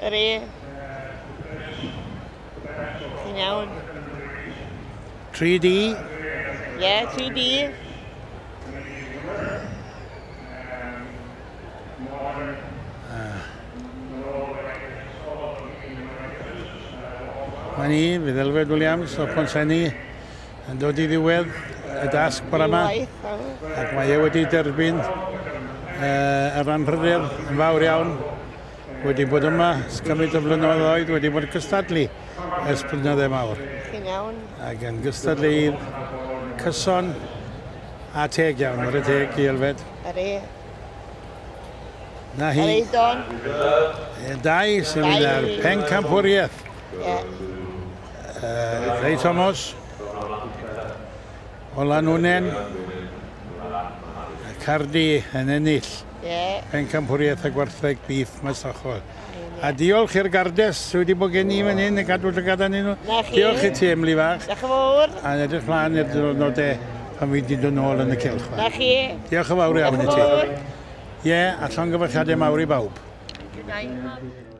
Ydy. Chi'n iawn. 3D. Ie, yeah, 3D. Mae ni, fydd Elfed Williams o Pontsenni yn dod i ddiwedd y dasg bore yma. Ac mae e wedi derbyn yr anrhydedd yn fawr iawn. Wedi bod yma ers cymaint o flynyddoedd, wedi bod yn cystadlu ers blynyddoedd mawr. Chi'n iawn. Ac yn gystadleuydd cyson a teg iawn, ware teg i Elfed. Ydy. Na hi. Ydy, Don. Dau sy'n mynd ar pencampwriaeth. Ie. Ray Thomas o Lanwnnen, Cardi yn ennill yeah. pencampwriaeth y gwartheg beef masnachol. A diolch i'r gardes sydd wedi bod gen i fan hyn yn cadw llygad arnyn nhw. Na chi. Diolch i ti, Emily fach. Diolch yn fawr. A edrych mlaen i'r diwrnodau pan fi wedi dod nôl yn y cylch. Na chi. Diolch yn fawr iawn i Diolch yn ti. fawr. Ie, a llongyfarchiadau mawr i bawb. Good night.